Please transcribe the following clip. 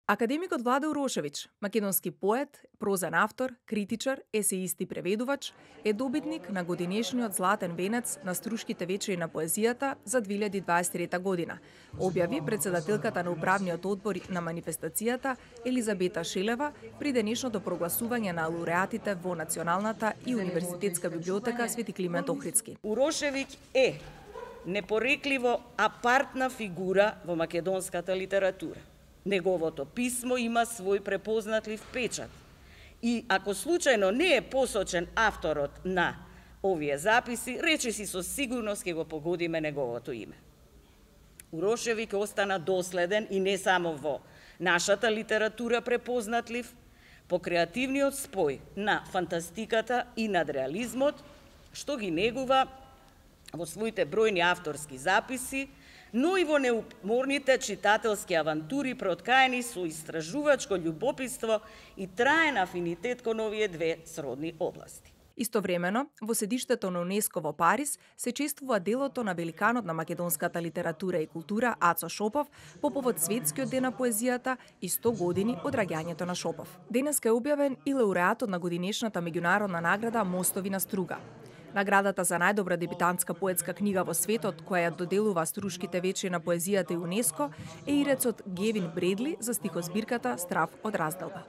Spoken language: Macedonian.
Академикот Владе Урошевиќ, македонски поет, прозен автор, критичар, есеист и преведувач, е добитник на годинешниот Златен венец на Струшките вечери на поезијата за 2023 година, објави председателката на управниот одбор на манифестацијата Елизабета Шелева при денешното прогласување на лауреатите во Националната и Универзитетска библиотека Свети Климент Охридски. Урошевиќ е непорекливо апартна фигура во македонската литература. Неговото писмо има свој препознатлив печат. И ако случајно не е посочен авторот на овие записи, речиси со сигурност ќе го погодиме неговото име. Урошевиќ остана доследен и не само во нашата литература препознатлив, по креативниот спој на фантастиката и надреализмот, што ги негува во своите бројни авторски записи, но и во неуморните читателски авантури проткаени со истражувачко љубопитство и траен афинитет кон овие две сродни области. Истовремено, во седиштето на УНЕСКО во Париз се чествува делото на великанот на македонската литература и култура Ацо Шопов по повод Светскиот ден на поезијата и 100 години од раѓањето на Шопов. Денеска е објавен и лауреатот на годинешната меѓународна награда Мостови на струга. Наградата за најдобра дебютантска поетска книга во светот, која ја доделува Струшките вечери на поезијата и УНЕСКО, е ирецот Гевин Бредли за стихозбирката Страв од разделба.